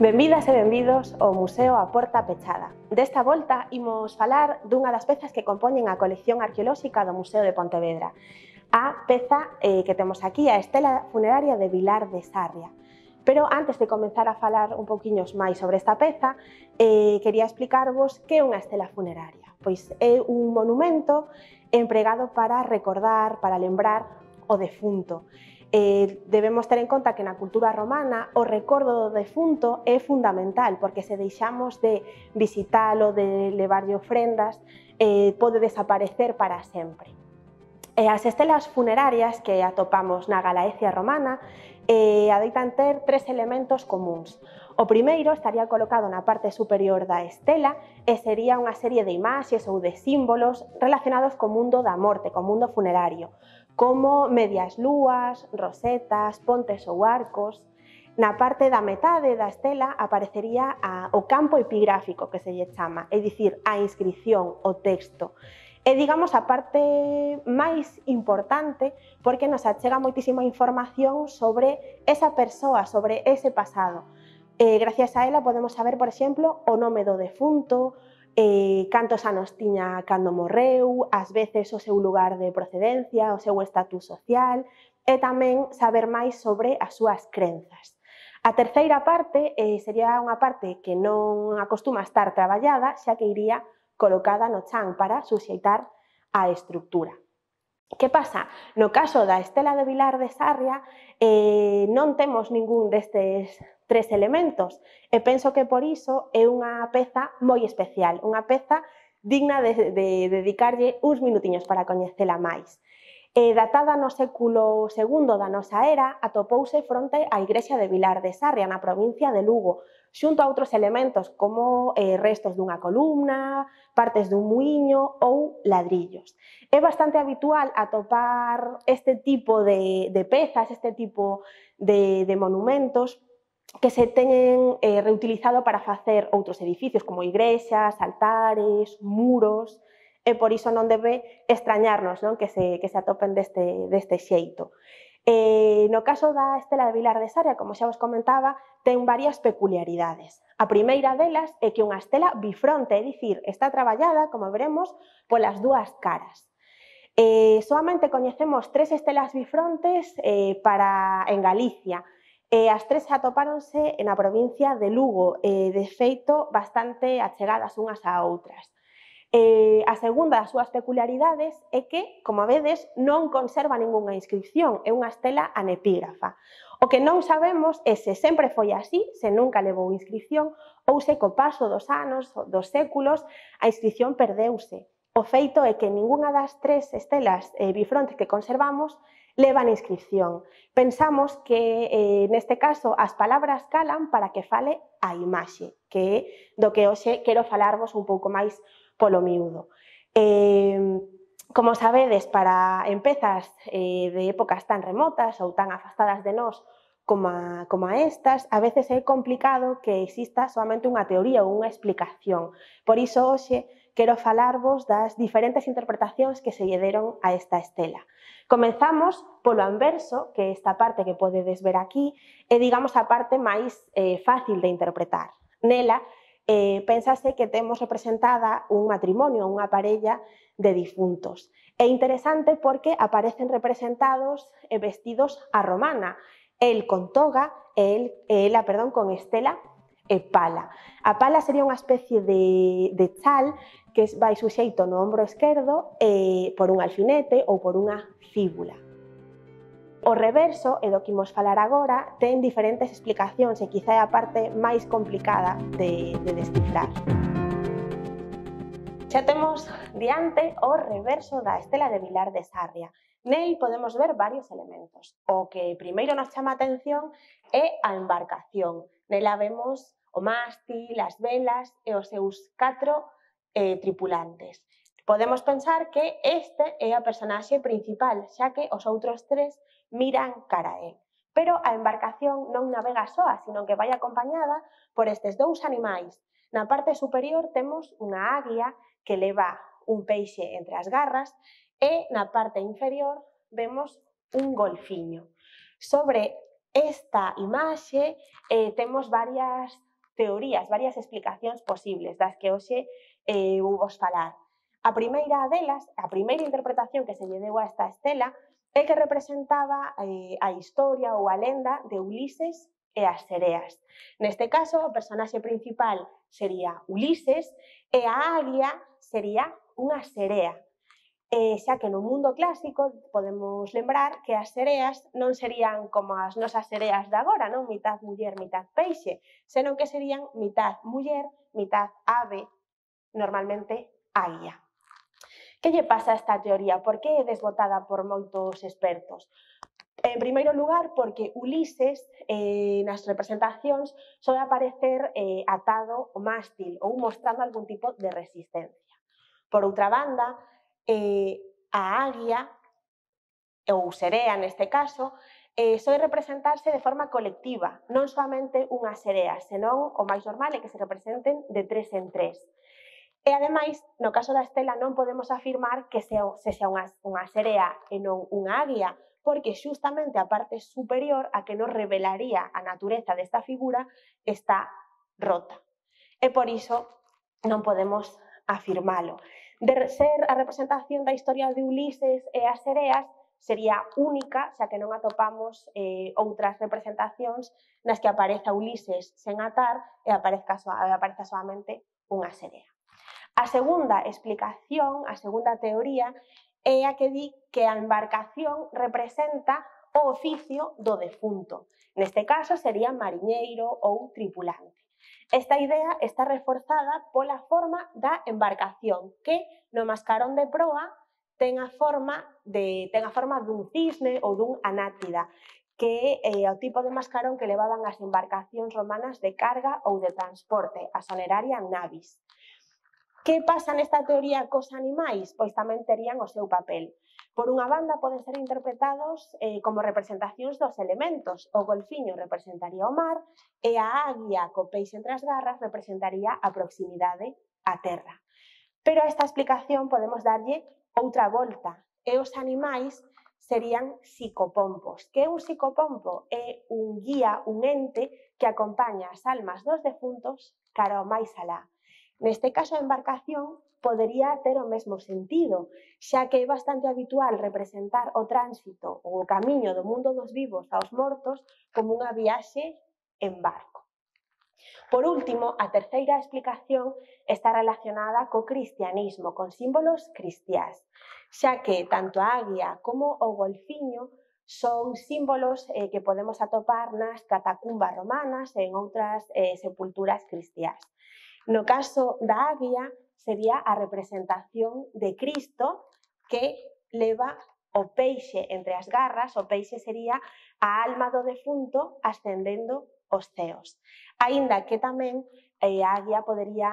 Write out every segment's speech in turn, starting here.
Benvidas e benvidos ao Museo A Porta Pechada. Desta volta imos falar dunha das pezas que compoñen a colección arqueolóxica do Museo de Pontevedra. A peza que temos aquí, a estela funeraria de Vilar de Sarria. Pero antes de comenzar a falar un pouquiños máis sobre esta peza, quería explicarvos que é unha estela funeraria. Pois é un monumento empregado para recordar, para lembrar o defunto. Debemos ter en conta que na cultura romana o recordo do defunto é fundamental, porque se deixamos de visitalo, de levarlle ofrendas, pode desaparecer para sempre. As estelas funerarias que atopamos na Galaecia romana adoitan ter tres elementos comúns. O primeiro estaría colocado na parte superior da estela e sería unha serie de imaxes ou de símbolos relacionados co mundo da morte, co mundo funerario, como medias lúas, rosetas, pontes ou arcos. Na parte da metade da estela aparecería o campo epigráfico, que se lle chama, é dicir, a inscripción, o texto. É, digamos, a parte máis importante porque nos achega moitísima información sobre esa persoa, sobre ese pasado. Gracias a ela podemos saber, por exemplo, o nome do defunto, cantos anos tiña cando morreu, ás veces o seu lugar de procedencia, o seu estatus social e tamén saber máis sobre as súas crenzas. A terceira parte sería unha parte que non acostuma estar traballada, xa que iría colocada no chan para suxeitar a estructura. Que pasa? No caso da estela de Vilar de Sarria non temos ningún destes tres elementos e penso que por iso é unha peza moi especial, unha peza digna de dedicarlle uns minutiños para coñecela máis. Datada no século II da nosa era, atopouse fronte á igrexa de Vilar de Sarria, na provincia de Lugo, xunto a outros elementos como restos dunha columna, partes dun muíño ou ladrillos. É bastante habitual atopar este tipo de pezas, este tipo de monumentos que se teñen reutilizado para facer outros edificios como igrexas, altares, muros, e por iso non debe extrañarnos, non? Que se atopen deste xeito. No caso da estela de Vilar de Sarria, como xa vos comentaba, ten varias peculiaridades. A primeira delas é que é unha estela bifronte, é dicir, está traballada, como veremos, polas dúas caras. Soamente coñecemos tres estelas bifrontes en Galicia, as tres atopáronse na provincia de Lugo, de feito bastante achegadas unhas a outras. A segunda das súas peculiaridades é que, como vedes, non conserva ningunha inscripción, é unha estela anepígrafa. O que non sabemos é se sempre foi así, se nunca levou inscripción, ou se co paso dos anos, dos séculos, a inscripción perdeuse. O feito é que ningunha das tres estelas bifrontes que conservamos levan inscripción. Pensamos que, neste caso, as palabras calan para que fale a imaxe, que é do que hoxe quero falarvos un pouco máis polo miúdo. Como sabedes, en pezas de épocas tan remotas ou tan afastadas de nós como a estas, a veces é complicado que exista solamente unha teoría ou unha explicación. Por iso, hoxe, quero falarvos das diferentes interpretacións que se lle deron a esta estela. Comezamos polo anverso, que esta parte que podedes ver aquí é, digamos, a parte máis fácil de interpretar. Nela, pénsase que temos representada un matrimonio, unha parella de difuntos. É interesante porque aparecen representados vestidos a romana, el con toga e ela con estela e pala. A pala sería unha especie de chal que vai suxeito no ombro esquerdo por un alfinete ou por unha fíbula. O reverso, e do que imos falar agora, ten diferentes explicacións e quizá é a parte máis complicada de descifrar. Xa temos diante o reverso da estela de Vilar de Sarria. Nel podemos ver varios elementos. O que primeiro nos chama a atención é a embarcación. Nela vemos o mástil, as velas e os seus 4 tripulantes. Podemos pensar que este é a personaxe principal, xa que os outros tres miran cara a él. Pero a embarcación non navega soa, sino que vai acompañada por estes dous animais. Na parte superior temos unha águia que leva un peixe entre as garras e na parte inferior vemos un golfiño. Sobre esta imaxe temos varias teorías, varias explicacións posibles das que hoxe vou vos falar. A primeira delas, a primeira interpretación que se lle deu a esta estela é que representaba a historia ou a lenda de Ulises e as sereas. Neste caso, o personaxe principal sería Ulises e a Aguia sería unha serea. Xa que no mundo clásico podemos lembrar que as sereas non serían como as nosas sereas de agora, non? Mitad muller, mitad peixe, senón que serían mitad muller, mitad ave, normalmente águia. Que lle pasa a esta teoría? Por que é desbotada por moitos expertos? En primeiro lugar, porque Ulises nas representacións soe aparecer atado ao mástil ou mostrando algún tipo de resistencia. Por outra banda, a águia, ou serea neste caso, soe representarse de forma colectiva, non soamente unha serea, senón o máis normal é que se representen de 3 en 3. E, ademais, no caso da estela non podemos afirmar que sexa unha serea e non unha águia, porque xustamente a parte superior, a que nos revelaría a natureza desta figura, está rota. E por iso non podemos afirmalo. De ser a representación da historia de Ulises e as sereas, sería única, xa que non atopamos outras representacións nas que apareza Ulises sen atar e apareza solamente unha serea. A segunda explicación, a segunda teoría, é a que di que a embarcación representa o oficio do defunto. Neste caso sería mariñeiro ou tripulante. Esta idea está reforzada pola forma da embarcación, que no mascarón de proa ten a forma dun cisne ou dun anáctida, que é o tipo de mascarón que levaban as embarcacións romanas de carga ou de transporte, a soneraria navis. Que pasa nesta teoría cos animais? Pois tamén terían o seu papel. Por unha banda, poden ser interpretados como representacións dos elementos. O golfiño representaría o mar e a águia co peixe entre as garras representaría a proximidade á terra. Pero a esta explicación podemos darlle outra volta e os animais serían psicopompos. Que é un psicopompo? É un guía, un ente que acompaña as almas dos defuntos cara ao máis alá. Neste caso, a embarcación podería ter o mesmo sentido, xa que é bastante habitual representar o tránsito ou o camiño do mundo dos vivos aos mortos como unha viaxe en barco. Por último, a terceira explicación está relacionada co cristianismo, con símbolos cristiás, xa que tanto a águia como o golfiño son símbolos que podemos atopar nas catacumbas romanas e en outras sepulturas cristiás. No caso da águia, sería a representación de Cristo que leva o peixe entre as garras. O peixe sería a alma do defunto ascendendo os ceos. Aínda que tamén a águia podería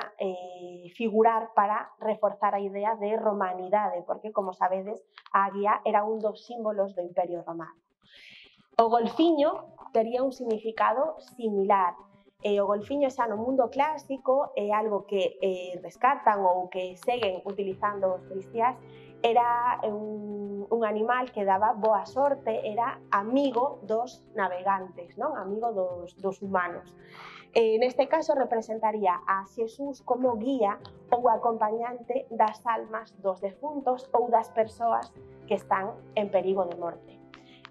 figurar para reforzar a idea de romanidade, porque, como sabedes, a águia era un dos símbolos do Imperio Romano. O golfiño tería un significado similar. O golfiño xa no mundo clásico é algo que rescatan ou que seguen utilizando os cristiás. Era un animal que daba boa sorte, era amigo dos navegantes, non? Amigo dos humanos. Neste caso representaría a Xesús como guía ou acompañante das almas dos defuntos ou das persoas que están en perigo de morte.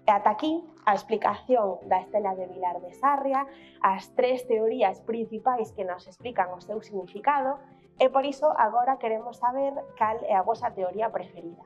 E ata aquí a explicación da estela de Vilar de Sarria, as 3 teorías principais que nos explican o seu significado, e por iso agora queremos saber cal é a vosa teoría preferida.